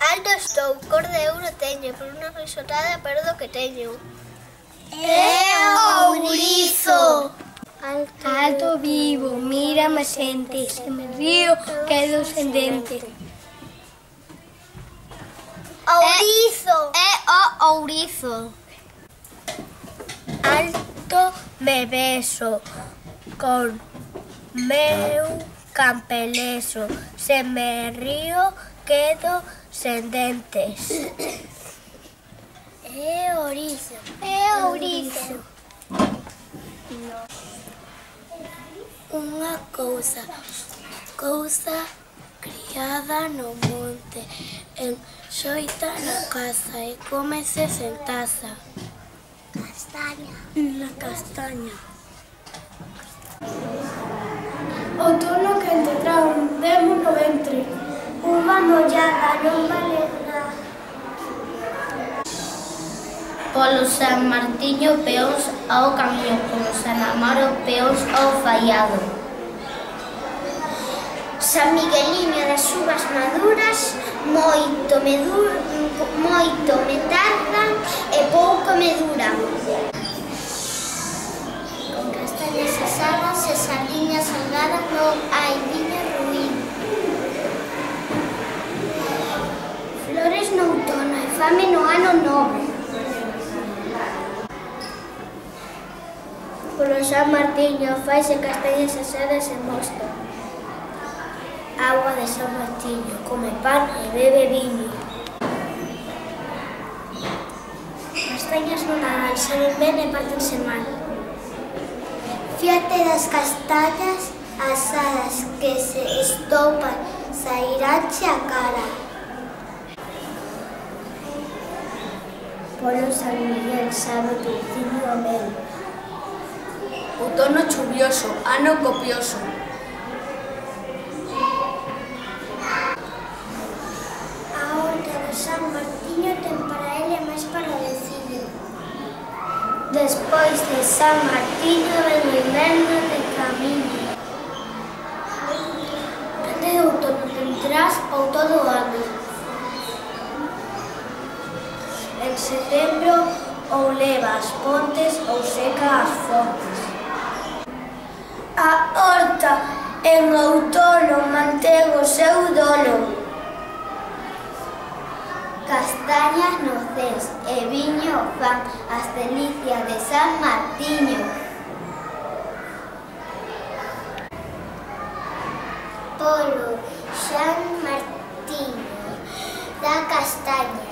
Alto estou, cor de ouro teño, por unha risotada perdo que teño. Ourizo. Alto vivo, mírame xente, se me río quedo sen dente. Ourizo. É o ourizo. Alto me beso con meu campeleso, se me río quedo sen dentes. É ourizo. É ourizo. Unha cousa criada no monte, enxoita na casa e cómese sen taza. Castaña. Na castaña. Outono quente trae un demo no ventre. Uva mollada non vale nada. Polo San Martiño peóns ao camiño, polo San Amaro peóns ao faiado. San Migueliño das uvas maduras, moito me tardan e pouco me duran. Con castañas asadas e sardiñas salgadas non hai viño ruín. Flores no outono e fame no ano novo. Polo San Martiño faise castañas asadas e mosto. Agua de San Martiño, come pan e bebe viño. Castañas no Nadal, saben ben e pártense mal. Fíate das castañas asadas que se estopan, sairánche a cara. Polo San Miguel sabe dulciño a mel. Outono chuvioso, ano copioso. A horta do San Martiño ten para ele máis para o veciño. Despois de San Martiño ven o inverno de camiño. Dende de outono tendrás ou todo o ano. En setembro ou leva as pontes ou seca as fontes. A horta en outono mantén o seu dolo. Castañas noces e viño fan as delicias de San Martiño. Polo San Martiño da castaña